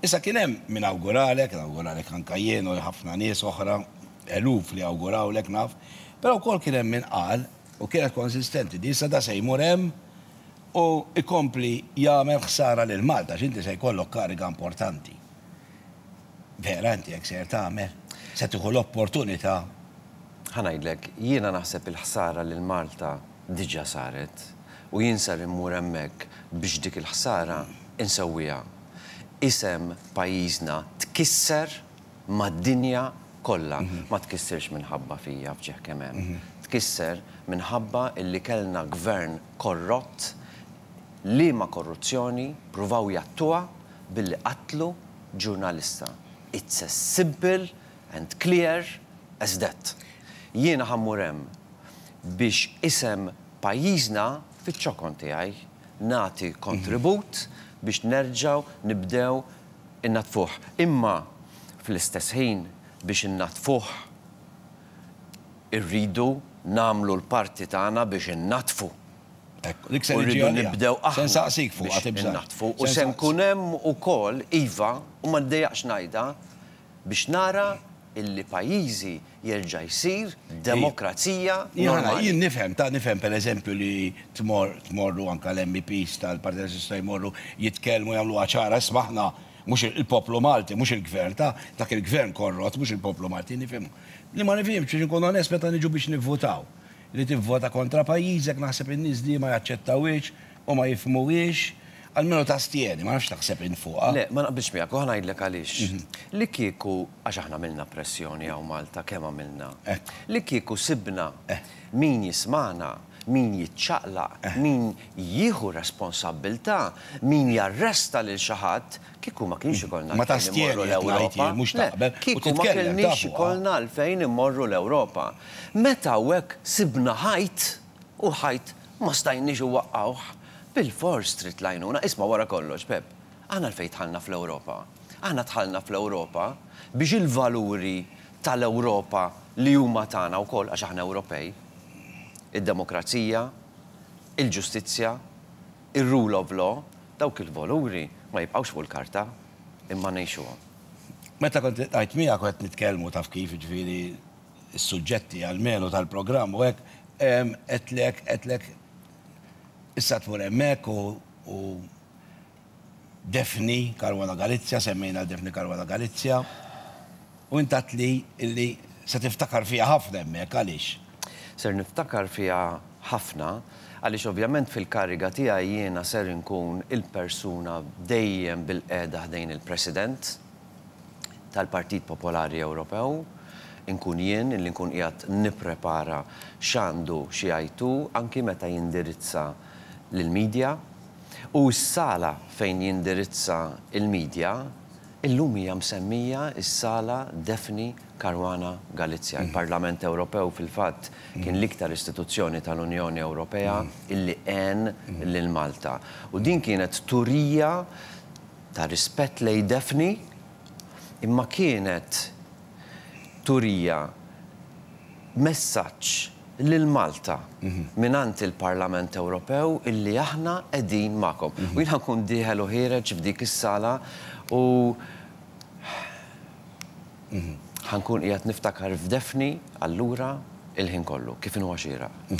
Issa kien hemm min awguralek, awguralek anka jien u ħafna nies oħra, eluf li awgurawlek naf, però wkoll kien hemm min qal u kienet konsistenti di issa da se jmur hemm u jkompli jagħmel ħsara lil Malta għax inti se jkollok kariga importanti. Vera inti hekk sejjer tagħmel? Se tieħu l-opportunità? Ħa ngħidlek, jiena naħseb il-ħsara lil Malta diġà saret u jien ser immur hemmhekk biex dik il-ħsara insewwiha. Isem pajjiżna tkisser mad-dinja kollha. Ma tkissirx minħabba fija f'ġieħ kemm hemm. Tkisser minħabba illi kellna gvern korrott liema korruzzjoni pruvaw jgħattuha billi qatlu ġurnalista. It's as simple and clear as that. Jiena ħa mmur hemm biex isem pajjiżna fiċ-ċokon tiegħi nagħti kontribut biex nerġgħu nibdew innaddfuh. Imma fl-istess ħin biex innaddfuh irridu nagħmlu l-parti tagħna biex innaddfu. Ekku, dik se U niġi rridu għaliha. nibdew Se aħna nsaqsik fuqha biex tibżax. innaddfu. U Se se nsaqsik. nkun hemm ukoll, iva, u ma niddejjaqx ngħidha, biex nara illi pajjiżi jerġa' jsir demokrazija normali. Jien nifhem, ta' nifhem pereżempju li tmor tmorru anke l-MEPs tal-Partit Nazzjonalista jmorru jitkellmu jagħmluha ċara, isma' aħna mhux il-poplu Malti, mhux il-gvern ta' dak il-gvern korrott, mhux il-poplu Malti, nifhimhu. Li ma nifhimx biex inkun onest meta niġu biex nivvutaw. Li tivvota kontra pajjiżek naħseb in-nies di ma jaċċettawhiex u ma jifhmuhiex, almenu tastjeni, ma nafx x'taħseb int fuqha. Le, ma naqbilx miegħek u ħa ngħidlek għaliex. Li kieku, għax aħna għamilna pressjoni hawn Malta, kemm għamilna. Li kieku sibna min jismagħna, min jiċċaqlaq, min jieħu responsabbiltà, min jarresta lil xi ħadd, kieku ma kienx ikollna Ma għalfejn tastjeni immorru qed ngħid l-Ewropa. jien, mhux Le, taqbel u kieku ma titkellem ta' kellniex fuqha. ikollna għalfejn immorru l-Ewropa. Meta hawnhekk sibna ħajt, u l-ħajt ma stajniex inwaqqgħuh, bilfors trid l-għajnuna. Isma' wara kollox, Pep, aħna għalfejn dħalna fl-Ewropa? Aħna dħalna fl-Ewropa biex il-valuri tal-Ewropa li huma tagħna wkoll, għax aħna Ewropej, id-demokrazija, il-ġustizzja, ir-rule of law, dawk il-valuri ma jibqgħux fuq il-karta, imma ngħixuhom. Meta kont iltqajt miegħek u qed nitkellmu taf kif, jiġifieri s-suġġetti almenu tal-programm u hekk, għedtlek, għedtlek issa tmur hemmhekk u u Daphne Caruana Galizia, semmejna 'l Daphne Caruana Galizia, u int għedtli illi se tiftakar fiha ħafna hemmhekk, għaliex? Ser niftakar fiha ħafna għaliex ovvjament fil-kariga tiegħi jiena ser inkun il-persuna dejjem bilqiegħda ħdejn il-President tal-Partit Popolari Ewropew, inkun jien illi nkun qiegħed nipprepara x'għandu xi jgħid hu anki meta jindirizza lill-media. U s-sala fejn jindirizza l-media illum hija msemmija s-Sala Daphne Caruana Galizia. Il-Parlament Ewropew fil-fatt kien l-iktar istituzzjoni tal-Unjoni Ewropea illi għen lil Malta. U din kienet turija ta' rispett lejn Daphne imma kienet turija messaġġ lil Malta mingħand il-Parlament Ewropew illi aħna qegħdin magħkom. U jien ħa nkun dieħel u ħiereġ f'dik is-sala u ħa nkun qiegħed niftakar f'Daphne allura il-ħin kollu, kif inhuwa xieraq.